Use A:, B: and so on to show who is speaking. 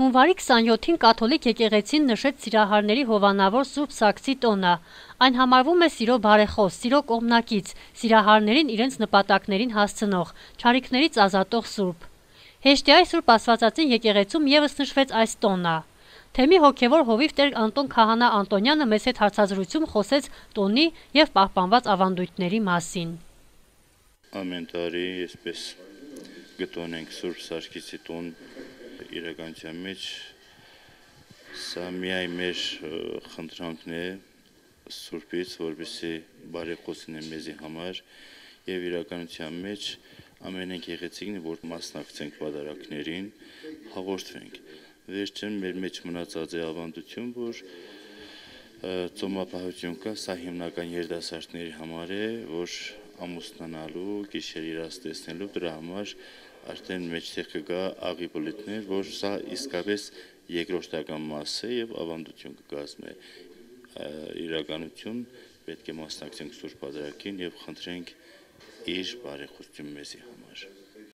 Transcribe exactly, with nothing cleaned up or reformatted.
A: Հունվարի քսանյոթին կաթոլիկ եկեղեցին նշեց սիրահարների հովանավոր Սուրբ Սարգսի տոնը։ Այն համարվում է սիրո բարեխոս, սիրո կողմնակից, սիրահարներին իրենց նպատակներին հասցնող, չարիքներից ազատող սուրբ։ Հեշտիայի Սուրբ Աստվածածին եկեղեցում ևս նշվեց այս տոնը։ Թեմի հոգևոր հովիվ Տեր Անտոն Քահանա Անտոնյանը մեծ հետ հարցազրույցում խոսեց տոնի եւ պահպանված ավանդույթների մասին։
B: Ամեն տարի այսպես գտոնենք Սուրբ Սարգսի տոն իրականության մեջ, սա միայն մեր խնդրանքն է Սուրբից, որպեսզի բարեխոսին է մեզի համար եւ իրականության մեջ ամենենք եղեցիկն է, որ մասնակցենք պատարակներին, հաղորդվենք։ Վերջին մեր մեջ մնացած է ավանդություն, որ ծոմապահություն կա, սա հիմնական երիտասարդների համար է, որ ամուսնանալու, գիշեր իրաց տեսնելու դրա համար արդեն մեջտեղ կգա աղի բլիթներ, որ սա իսկապես երկրորդական մաս է եւ ավանդություն կկազմի իրականություն, պետք է մասնակցենք Սուրբ Պատարագին եւ խնդրենք իր բարեխոսություն մեզի համար։